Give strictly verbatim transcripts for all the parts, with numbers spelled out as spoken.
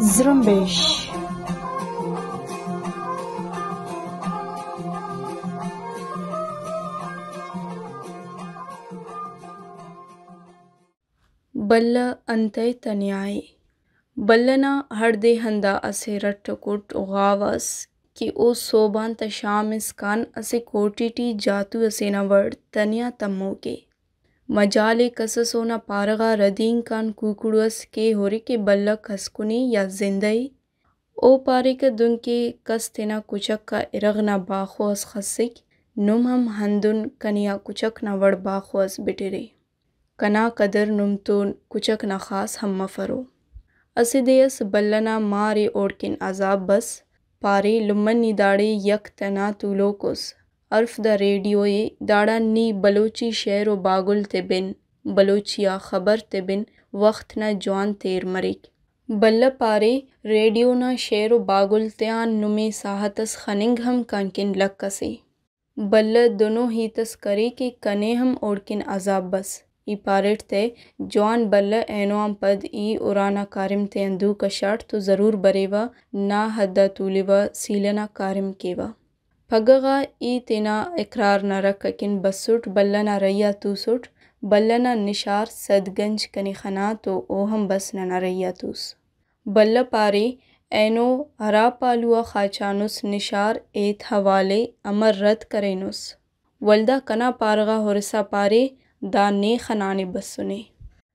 زرمبش۔ بلہ انتئے تنیا ءِ؟ بلہ نا ہڑدے ہندا اسہ رٹ و کٹ و غاو اس کہ او سہب آن تہ شام اسکان اسہ کوٹی ٹی جاتو ئسے نا وڑ تنیا تموک ءِ۔ مجال ءِ کس ئس اونا پارہ غا ردینک آن کوکڑو ئس کے ہُرے کہ بلہ کس کنے یا زندہ ءِ۔ او پاریکہ، دنکہ کس تینا کچک آ ارغ نا باخو ئس خسک، نم ہم ہندن کنے آ کچک نا وڑ باخو ئس بٹرے۔ کنا قدر نم تون کچک نا خاص ہم مفرو۔ اسہ دے ئس بلہ نا مار ءِ اوڑکن عذاب بس، پارے، لمہ نی داڑے یک تنا تولوک اس، ہرف دا ریڈیو ءِ، داڑان نی بلوچی شعر و باگل تے بن، بلوچی آ خبر تے بن، وخت نا جوان تیر مریک۔ بلہ پارے، ریڈیو نا شعر و باگل تیان نمے ساہت اس خننگ ہم کنکن لک ئسے۔ بلہ دنو ہیت اس کرے کہ کنے ہم اوڑکن عذاب بس۔ ای پاریٹ تہ، جوان بلہ، اینو آن پد ای ارانا کاریم تیان دو کشاٹ تو ضرور بریوہ، نا حد آ تولوہ، سیلہ نا کاریم کیوہ۔ پگہ غا ای تینا اقرار نا رکھ اکن بسٹ، بلہ نا رہی آ توسٹ، بلہ نا نشار سد گنج کنے خنا تو او ہم بس ننا رہی آ توس۔ بلہ پارے، اینو ہرا پہلو آ خاچانس نشار ایت حوالے امر رد کرینس؟ ولدا کنا پارہ غا ہرسا پارے، دا نے خنانے بسنے۔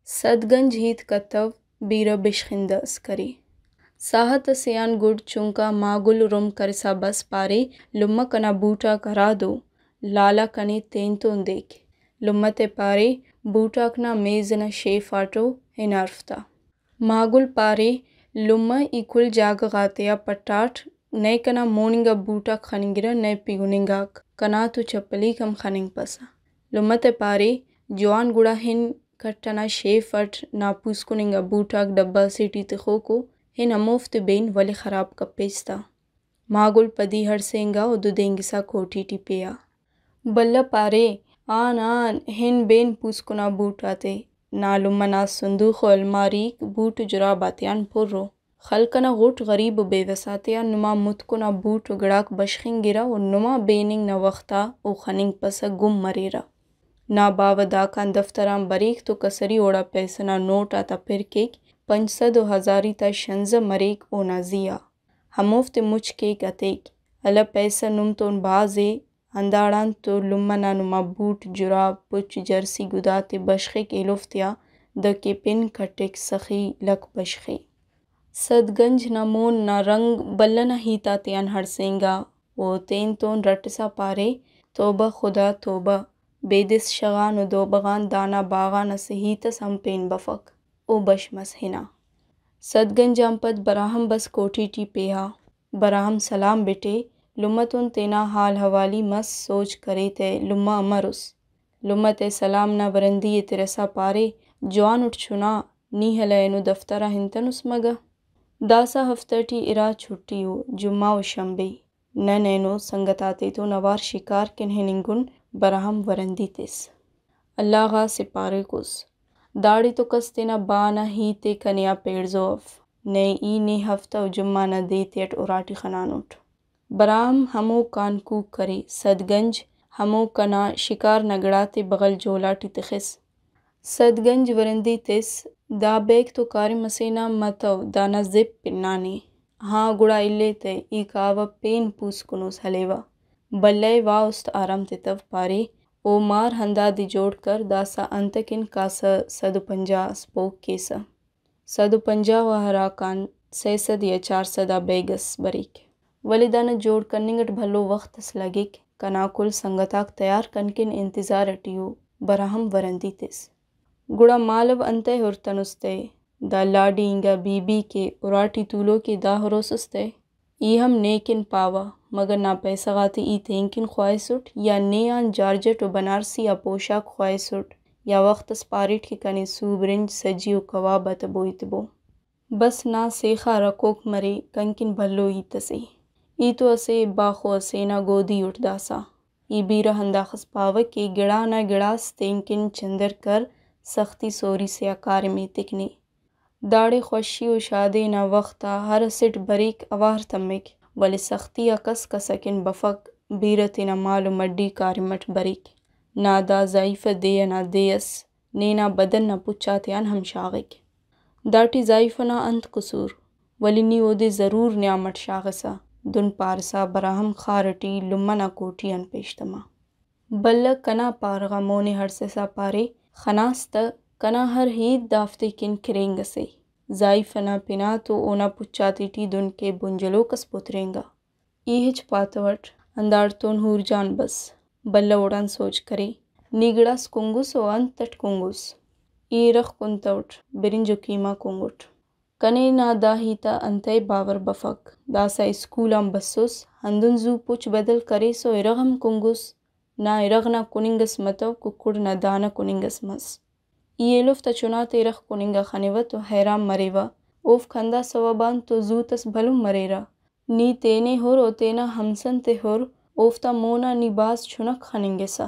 سد گنج ہیت کتو، بیرہ بشخندہ ئس کرے۔ ساہت ئسے آن گڈ چنکا ماگل رم کرسا بس پارے، لمہ کنا بوٹاک ہرادو؟ لالا کنے تینتون دیک۔ لمہ تے پارے، بوٹاک نا میز ئنا شیف آٹو، ہن ہرفتا۔ ماگل پارے، لمہ ای کل جاگہ غاتیا پٹاٹ، نئے کنا مون انگا بوٹاک خننگرہ، نئے پگن انگاک، کنا تو چپلیک ہم خننگپسہ۔ لمہ تے پارے، جوان گڑا ہن کٹ ئنا شیف اٹ نا پوسکن انگا بوٹاک ڈبہ سے ٹی تخوکو، ہن ہموفتے بین ولے خراب کپیس تا۔ ماگل پدی ہڑسینگا و ددینگسا کوٹی ٹی پیا۔ بلہ پارے، آن آن، ہن بین پوسکن آ بوٹ آتے۔ نا لمہ نا صندوق و الماریک بوٹ و جراب آتیان پر ءُ۔ خلق ئنا غٹ غریب و بے وس آتیا نما متکن آ بوٹ و گڑاک بشخنگرہ و نما بیننگ نا وخت آ او خننگپسہ گم مریرہ۔ نا باوہ داکان دفتر آن بریک تو کسری اوڑا پیسہ نا نوٹ آتا پر کیک، پنچ سد و ہزاری تا شنزہ مریک اونا زی آ۔ ہموفتے مچ کیک ہتیک۔ ہلہ پیسہ نم تون بھاز ءِ، ہنداڑان تو لمہ نا نما بوٹ، جراب، پچ، جرسی گداتے بشخک ایلوفتیا دہ کہ پن کٹک سخی لک بشخے۔ سد گنج نا مون نا رنگ بلہ نا ہیت آتیان ہڑسینگا۔ او تین تون رٹسا پارے، توبہ خدا توبہ، بیدس شغان و دوبہ غان دانا باغان اسہ ہیت اس ہم پین بفک۔ او بش مس ہنا۔ سد گنج آن پد براہم بس کوٹی ٹی پیہا۔ براہم سلام بٹے، لمہ تون تینا حال حوالی مس، سوج کرے تہ لمہ امر اس۔ لمہ تہ سلام نا ورندی ءِ ترسا پارے، جوان اٹ چنا، نی ہلہ اینو دفتر آ ہنتنس مگہ؟ داسہ ہفتہ ٹی ارا چھٹی ءُ، جمعہ و شنبے۔ نن اینو سنگت آتیتون اوار شکار کن ہننگن، براہم ورندی تس۔ اللہ غا سپاریکس۔ داڑے تو کس تینا با نا ہیت ءِ کنے آ پیڑزو اف۔ نئے ای نے ہفتہ و جمعہ نا دے تیٹ اراٹی خنانٹ۔ براہم ہموکان کوک کرے، سد گنج ہمو کنا شکار نا گڑاتے بغل جولاٹی تخس۔ سد گنج ورندی تس، دا بیگ تو کاریم اسے نا متو، دانا زپ پنانے۔ ہاں، گڑا الیتہ، ای کاوہ پین پوسکنوس ہلیوہ۔ بلہ ءِ وا است آرام تتو پارے، او مار ہندادے جوڑ کر، داسہ انتکن کاسہ سد و پنجاہ اس پوک کیسہ۔ سد و پنجاہ و ہراکان سئے سد یا چار سد آ بیگ اس بریک۔ ولے دانا جوڑ کننگ اٹ بھلو وخت اس لگک۔ کنا کل سنگتاک تیار کنکن انتظار اٹی ءُ، براہم ورندی تس۔ گڑا مالو انتئے ہرتنس تہ؟ دا لاڈی انگا بی بی کہ اراٹی تولوکے دا ہروسس تہ؟ ای ہم نے کن پاوہ، مگر نا پیسہ غاتے ای تینکن خواہسٹ یا نے آن جارجٹ و بنارسی آ پوشاک خواہسٹ، یا وخت اس پاریٹ کہ کنے سو برنج، سجی و کباب آتا بوئی تبو۔ بس نا سیخا رکھوک مرے، کنکن بھلو ہیت اسے۔ ای تو اسہ باخو ئسے نا گودی اٹ داسہ۔ ای بیرہ ہنداخس پاوہ کہ گڑا نا گڑاس تینکن چندر کر، سختی سوری سے آ کاریم ایتک نے۔ داڑے خوشی و شادی نا وخت آ ہر اسٹ بریک اوار تمک، ولے سختی آ کس کس اکن بفک، بیرہ تینا مال و مڈی کاریم اٹ بریک۔ نا دا ضعیفہ دے ئنا دے ئس، نے نا بدن نا پچ آتیان ہم شاغک۔ داٹی ضعیفہ نا انت قصور؟ ولے نی اودے ضرور نیام اٹ شاغسہ، دن پارسا براہم خار ئٹی لمہ نا کوٹی آن پیش تما۔ بلہ کنا پارہ غا مونے ہڑسسا پارے، خناس تہ، کنا ہر ہیت دافتے کن کھرینگ ئسے۔ ضعیفہ نا پن آ تو اونا پچ آتیٹی دن کہ بنجلوک ئس پترینگا۔ ای ہچ پاتوٹ، ہنداڑتون حور جان بس۔ بلہ اوڑان سوج کرے، نی گڑاس کنگس و انت اٹ کنگس؟ ای ارغ کنتوٹ، برنج و قیمہ کنگٹ۔ کنے نا دا ہیت آ انتئے باور بفک؟ داسہ اسکول آن بسوس، ہندن زو پچ بدل کریس و ارغ ہم کنگس۔ نا ارغ نا کننگ ئس متو، ککڑ نا دانہ کننگ ئس مس۔ ای ایلوفتا چناتے ارغ کننگ آ خنوہ تو حیران مریوہ، اوفک ہندا سوب آن تو زوت ئس بھلن مریرہ۔ نی تینے ہر و تینا ہمسن تے ہر، اوفتا مون آ نی بھاز چنک خننگسہ۔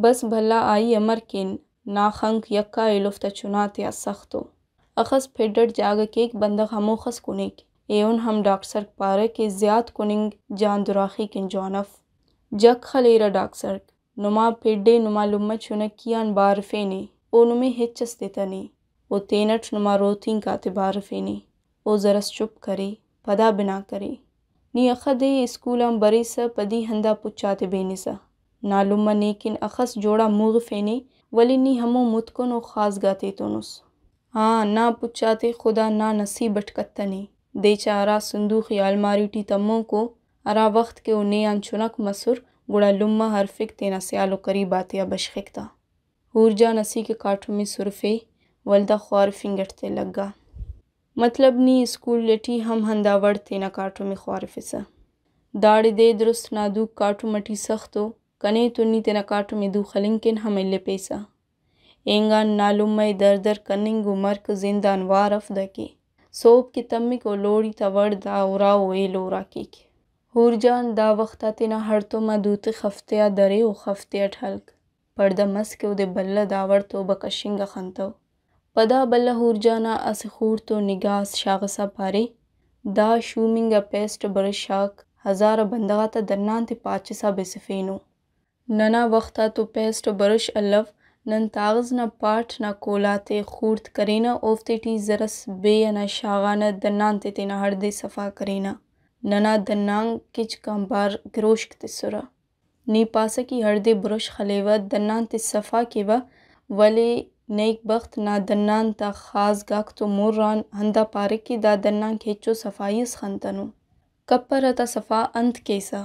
بس بھلا آئی امر کین، نا خنک یکا ایلوفتا چناتیا سخت ءُ۔ اخس پھڈ اٹ جاگہ کیک، بندغ ہموخس کنیک۔ ایہن ہم ڈاکسرک پارہ کہ زیات کننگ جان دراخی کن جوان اف۔ جک خلیرہ ڈاکسرک، نما پھڈ ءِ، نما لمہ چنکی آن بارفینے، او نمے ہچ اس تتنے۔ او تینٹ نما روتینک آتے بارفینے۔ او زرس چپ کرے، پدا بنا کرے۔ نی اخہ دے اسکول آن بریسہ پدی ہندا پچ آتے بینسہ۔ نا لمہ نیکن اخس جوڑا موغفینے، ولے نی ہمو متکن و خازگا تیتونس۔ ہاں، نا پچ آتے خدا نا نصیب اٹ کتنے۔ دے چا ہرا صندوق یا الماری ٹی تموکو، ہرا وخت کہ او نے آن چنک مسر، گڑا لمہ ہرفک تینا سیال و قریب آتیا بشخک تا۔ حور جان اسیکہ کاٹمی سرفے، ولدا خوارفنگ اٹ تے لگا۔ مطلب نی اسکول ٹی ہم ہندا وڑ تینا کاٹم ءِ خوارفسہ۔ داڑے دے درست نا دوک کاٹم ٹی سخت ءُ، کنے تو نی تینا کاٹم ءِ دو خلنگ کن ہم الیپیسہ۔ اینگان نا لمہ ءِ در در کننگ و مرک زند آن وار اف دکہ سہب کہ تمک و لوڑی تا وڑ دا ارا و ایلو ارا کیک۔ حور جان دا وخت آ تینا ہڑتوم آ دوتخ، ہفتے آ درے و ہفتے اٹ ہلک۔ پڑدہ مس کہ اودے بلہ داوڑ توبہ کشنگ آ خنتو۔ پدا بلہ حور جان آ اسہ خوڑتو نگاہ اس شاغسا پارے، دا شومنگ آ پیسٹ و برش آک ہزار آ بندغ آتا دنان تے پاچسا بسفینو۔ ننا وخت آ تو پیسٹ و برش الو، نن تاغز نا پاٹ نا کولا تے خوڑت کرینہ، اوفتے ٹی زرس بے ئنا شاغانہ، دنان تے تینا ہڑدے صفا کرینہ۔ ننا دنان کچک آنبار گروشک تسرہ۔ نی پاسہ کہ ہڑدے برش خلیوہ، دنان تے صفا کیوہ، ولے نیک بخت نا دنان تا خازگاک تو مر آن ہندا پارے کہ دا دنانک ہچو صفائی اس خنتنو۔ کپرہ تا صفا انت کیسہ؟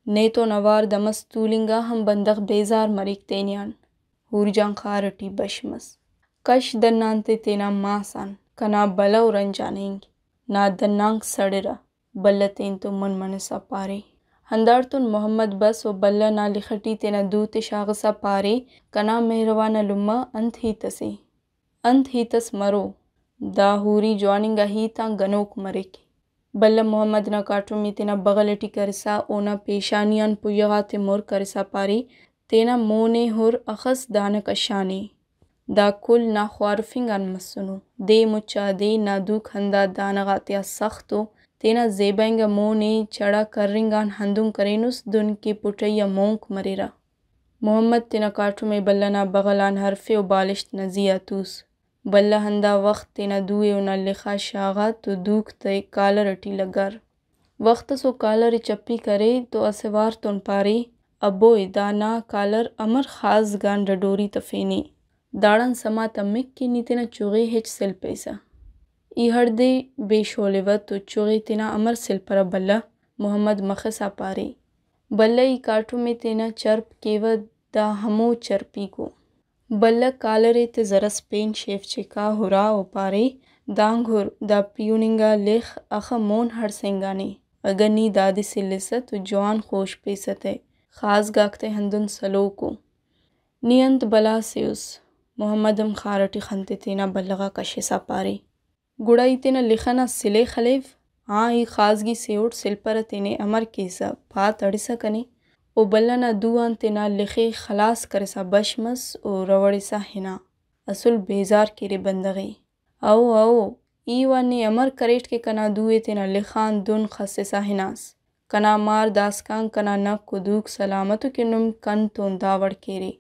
نیتون اوار دمس تولنگ آ ہم بندغ بیزار مریک تینیان۔ حور جان خار ٹی بش مس۔ کش دنان تے تینا ماس آن، کنا بلہ و رنج آن اینگ۔ نا دنانک سڑرہ۔ بلہ تینتون من منسا پارے۔ ہنداڑتون محمد بس و بلہ نا لخ ٹی تینا دو تے شاغسا پارے، کنا مہروانا لمہ، انت ہیت اسے؟ انت ہیت اس مرو؟ دا حوری جواننگا ہیت آن گنوک مریک۔ بلہ محمد نا کاٹم ءِ تینا بغل ٹی کرسا اونا پیشانی آن پویہ غاتے مر کرسا پارے، تینا مون ءِ ہر اخس دانہ کشانے۔ دا کل نا خوارفنگ آن مسنو۔ دے مچا دے نا دوک ہندا دانہ غاتیا سخت ءُ، تینا زیبا انگا مون ءِ چڑا کرنگ آن ہندن کرینس دن کہ پٹئی آ مونک مریرہ۔ محمد تینا کاٹم ءِ بلہ نا بغل آن ہرفے و بالشت نا زی آ توس۔ بلہ ہندا وخت تینا دو ءِ اونا لخ آ شاغا تو دوک تے کالر ٹی لگار۔ وخت اس او کالر ءِ چپی کرے تو اسہ وار تون پارے، ابوئے، دا نا کالر امر خازگان ڈڈوری تفینے؟ داڑان سما تمک کہ نی تینا چغے ہچ سلپیسہ۔ ای ہڑدے بے شولوہ تو چغے تینا امر سلپرہ بلہ؟ محمد مخسا پارے۔ بلہ ای کاٹم ءِ تینا چرپ کیوہ، دا ہمو چرپیکو۔ بلہ کالر ءِ تے زرس پین شیف چکا ہرا و پارے، دانگ ہر، دا پیہننگا لخ اخہ مون ہڑسینگانے۔ اگہ نی دادے سلسہ تو جوان خوشپیسہ تہ، خازگاک تہ ہندن سلوکو۔ نی انت بلا سے اس؟ محمد ہم خار ٹی خن تے تینا بلغ آ کشسا پارے۔ گڑا ای تینا لخ ئنا سلے خلیو، آں، ای خازگی سے اٹ سلپرہ تینے امر کیسہ، پا تڑسہ کنے۔ او بلہ نا دو آن تینا لخ ءِ خلاس کرسا بش مس و رؤڑسا ہنا۔ اسل بیزار کیرے بندغ ءِ۔ او، او، ای وا نے امر کریٹ کہ کنا دو ءِ تینا لخ آن دن خسسا ہناس؟ کنا مار داسکان کنا نک و دوک سلامت ءُ کہ نم کن تون دا وڑ کیرے۔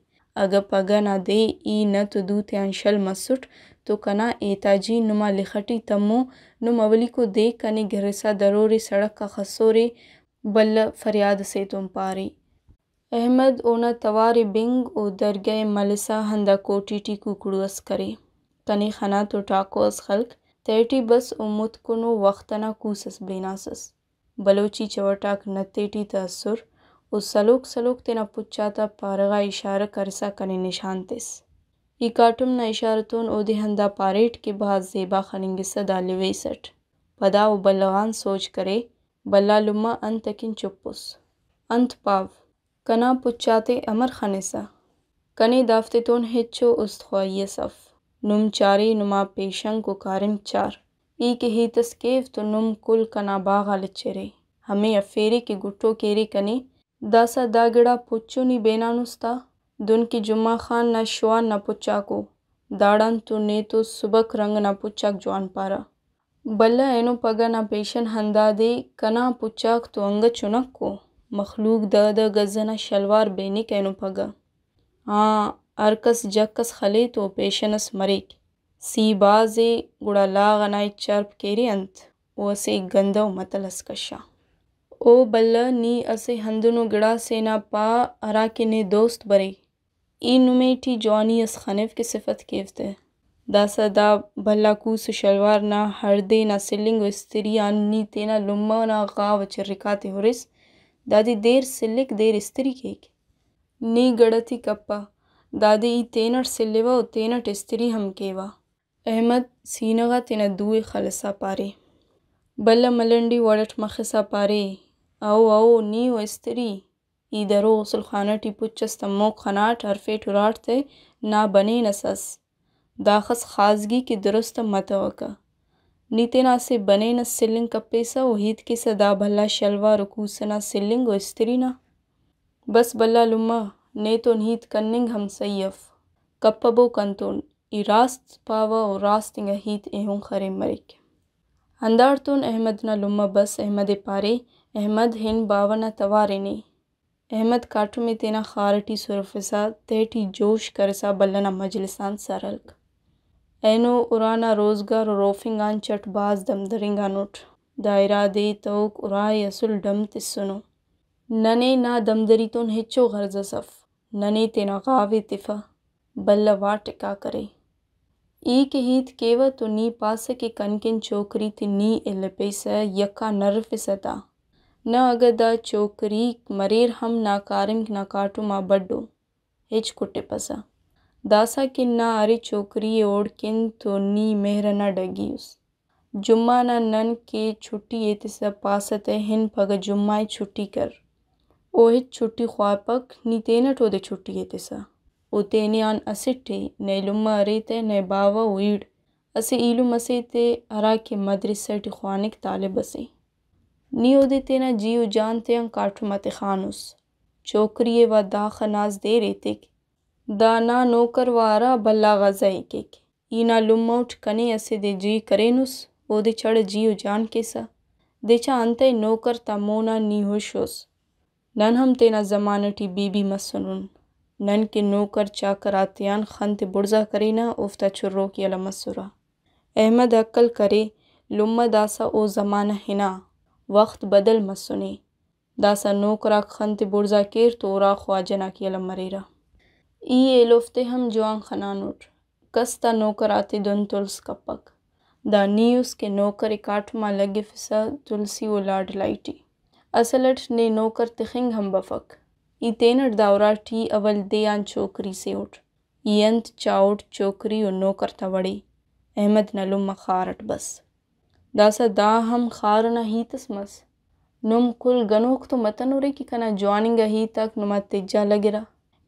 اگہ پگہ نا دے ای نت و دو تیان شل مسٹ تو کنا ایتاجی نما لخ ٹی تمو، نم اولیکو دے کنے گرسا درورے سڑک آ خسورے، بلہ فریاد ئسے تون پارے۔ احمد اونا توار ءِ بنگ و درگہ ءِ ملسا ہندا کوٹی ٹی کوکڑو ئس کرے۔ کنے خنا تو ٹاکو ئس خلک، تہٹی بس و متکنو وخت ئنا کوس ئس بیناسس۔ بلوچی چوٹاک نت ایٹی تہ ئسر و سلوک سلوک تینا پچ آتا پارہ غا اشارہ کرسا کنے نشان تس۔ ای کاٹم نا اشارہ تون اودے ہندا پاریٹ کہ بھاز زیبا خننگسہ دا لیویس اٹ۔ پدا او بلغ آن سوج کرے، بھلا لمہ انت اکن چپ اس؟ انت پاو؟ کنا پچ آتے امر خنسہ؟ کنے دافتتون ہچو است خواہی ئس اف۔ نم چارے، نما پیشنک و کاریم چار۔ ای کہ ہیت ئس کیو تو نم کل کنا باغ آ لچرے۔ ہمے افیرے کہ گٹو کیرے کنے۔ داسہ دا گڑا پچو نی بینانس تا؟ دن کہ جمعہ خان نا شوان نا پچاکو۔ داڑان تو نیتو سبک رنگ نا پچاک جوان پارہ۔ بلہ اینو پگہ نا پیشن ہندادے، کنا پچاک تو انگہ چنکو، مخلوق دہ دہ گز ئنا شلوار بینک اینو پگہ۔ ہاں، ہر کس جک ئس خلے تو پیشن ئس مریک۔ سی بھاز ءِ، گڑا لاغ ئنا ہچ چرپ کیرے انت؟ او اسہ گندہ و متل ئس کشا۔ او بلہ، نی اسہ ہندنو گڑاسے نا پا ہراکہ نے دوست برے۔ ای نمے ٹی جوانی ئس خنیو کہ صفت کیو تہ۔ داسہ دا بھلا کوس و شلوار نا ہڑدے نا سلنگ و استری آن نی تینا لمہ نا غاو ءِ چرکاتے ہُرس۔ دادے دیر سلک، دیر استری کیک۔ نی گڑتی کپہ، دادے ای تینٹ سلوہ و تینٹ استری ہم کیوہ۔ احمد سینہ غا تینا دو ءِ خلسا پارے۔ بلہ ملنڈی وڑ اٹ مخسا پارے، او او، نی و استری۔ ای درو غسل خانہ ٹی پچ ئس تموک خناٹ، ہرفیٹ ہراٹ تہ نا بنین ئس ئس۔ داخس خازگی کہ درست متوکہ۔ نی تینا اسہ بنین ئس سلنگ کپیسہ و ہیت کیسہ دا بھلا شلوار و کوس ئنا سلنگ و استری نا۔ بس بھلا لمہ، نیتون ہیت کننگ ہم سہی اف۔ کپبو کنتون، ای راست پاوہ و راست انگا ہیت ایہن خرین مریک۔ ہنداڑتون احمد نا لمہ بس احمد ءِ پارے، احمد، ہن باوہ نا توار ءِ نے۔ احمد کاٹم ءِ تینا خار ٹی سرفسا تہٹی جوش کرسا بھلا نا مجلس آن سر ہلک۔ اینو ارانا روزگار و روفنگ آن چٹ بھاز دم درینگانٹ۔ دا ارا دے تہوک ارا ءِ اسل ڈم تسنو۔ ننے نا دمدری تون ہچو غرض ئس اف۔ ننے تینا غاو ءِ تفہ، بلہ واٹکا کرے۔ ای کہ ہیت کیوہ تو نی پاسہ کہ کنکن چوکری تے نی الپیسہ، یکا نرفسہ تا۔ نہ اگہ دا چوکریک مریر ہم نا کارمک نا کاٹم آ بڈو۔ ہچ کٹپسہ۔ داسہ کہ نا ارے چوکری ءِ اوڑکن تو نی مہر ئنا ڈگی اس۔ جمعہ نا نن کہ چھٹی ایتسہ پاسہ تہ، ہن پگہ جمعہ ءِ چھٹی کر۔ او ہچ چھٹی خواپک، نی تینٹ اودے چھٹی ایتسہ۔ او تینے آن اسٹ ءِ، نئے لمہ ارے تہ، نئے باوہ و ایڑ۔ اسہ ایلم ئسے تے ہراکہ مدرسہ ٹی خوانک، طالب ئسے۔ نی اودے تینا جی و جان تیان کاٹم آ تخانس۔ چوکری ءِ وا داخہ ناز دیر ایتک۔ دا نا نوکر وا ارا بھلا غزہ ءِ کیک۔ ای نا لمہ اٹ کنے اسہ دے جی کرینس، اودے چڑ جی و جان کیسہ۔ دچا انتئے نوکر تا مون آ نی ہش اس۔ نن ہم تینا زمانہ ٹی بی بی مسنن۔ نن کہ نوکر چاکر آتیان خن تے بڑزا کرینہ، اوفتا چروک یلہ مسرہ۔ احمد ہکل کرے، لمہ داسہ او زمانہ ہنا، وخت بدل مسنے۔ داسہ نوکراک خن تے بڑزا کیر تو ارا خواجہ ناک یلہ مریرہ۔ ای ایلوفتے ہم جوان خنانٹ۔ کس تا نوکر آتے دن تلس کپک۔ دا نی اس کہ نوکر ءِ کاٹم آ لگفسہ تلسی و لاڈلائی ٹی۔ اصل اٹ نے نوکر تخنگ ہم بفک۔ ای تینٹ دا اراٹی اول دے آن چوکری سے اٹ۔ ای انت چاہوٹ چوکری و نوکر تا وڑے؟ احمد نا لمہ خار اٹ بس۔ داسہ دا ہم خار ئنا ہیت اس مس۔ نم کل گنوک تو متنورے کہ کنا جوان انگا ہیتاک نما تجا لگرہ۔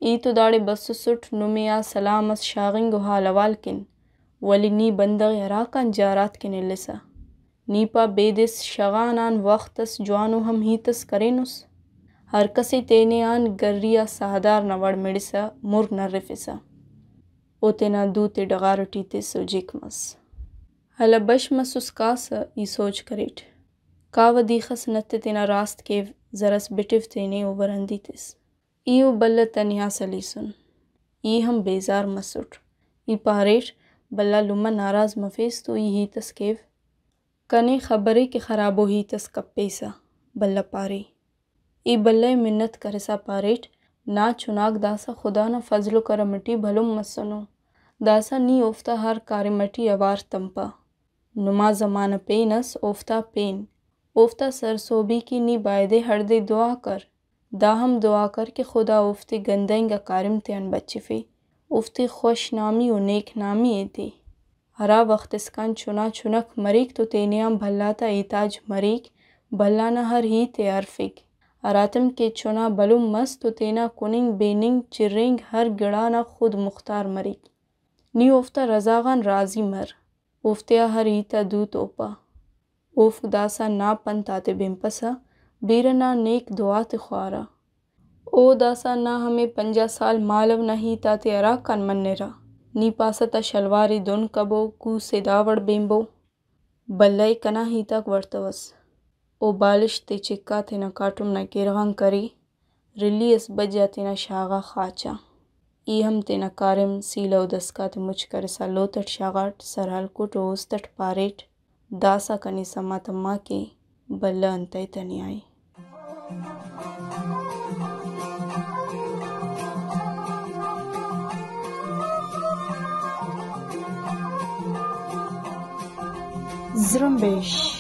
ای تو داڑے بسسٹ نمے آ سلام اس شاغنگ و حال حوال کن، ولے نی بندغ ءِ ہراکان جارات کن السہ۔ نی پا بیدس شغان آن وخت اس جوانو ہم ہیت اس کرینس؟ ہر کس ءِ تینے آن گری آ ساہدار نا وڑ مڑسہ مر نرفسہ۔ او تینا دوتے ڈغار ٹی تس و جک مس۔ ہلہ بش مسس کاسہ، ای سوج کریٹ۔ کاوہ دے خس نت ءِ تینا راست کیو، زرس بٹو تینے و ورندی تس۔ ای و بلہ تنیا سلیسن۔ ای ہم بیزار مسٹ۔ ای پاریٹ، بلہ لمہ ناراض مفیس تو ای ہیت اس کیو۔ کنے خبرے کہ خرابو ہیت اس کپیسہ، بلہ پارے۔ ای بلہ ءِ منت کرسا پاریٹ، نا چناک داسہ خدا نا فضل و کرم ٹی بھلن مسنو۔ داسہ نی اوفتا ہر کاریم ٹی اوار تمپہ۔ نما زمانہ پین ئس اوفتا پین۔ اوفتا سرسہبی کہ نی بایدے ہڑدے دعا کر۔ دا ہم دعا کر کہ خدا اوفتے گندہ انگا کاریم تیان بچفے، اوفتے خوش نامی و نیک نامی ایتے۔ ہرا وخت اسکان چنا چنک مریک تو تینے آن بھلا تا احتاج مریک، بھلا نا ہر ہیت ءِ ہرفک۔ ہراتم کہ چنا بھلن مس تو تینا کننگ، بیننگ، چرینگ ہر گڑا نا خود مختار مریک۔ نی اوفتا رضا غان راضی مر۔ اوفتیا ہر ہیت آ دوت اوپا۔ اوفک داسہ نا پنت آتے بنپسہ، بیرہ نا نیک دعا تے خوارہ۔ او داسہ نا ہمے پنجاہ سال مالو نا ہیت آتے ہراکان منرہ۔ نی پاسہ تا شلوار ءِ دن کبو، کوس ءِ دا وڑ بینبو۔ بلہ ءِ کنا ہیت آک وڑتوس۔ او بالشت تے چکا تینا کاٹم نا کیرغان کرے۔ رلی ئس بج آ تینا شاغا خاچا۔ ای ہم تینا کاریم سیلہ و دسکاتے مچ کرسا لوت ئٹ شاغاٹ، سر ہلکٹ و است ئٹ پاریٹ، داسہ کنے سما تما کہ بلہ انتئے تنیا ءِ۔ زرمبش۔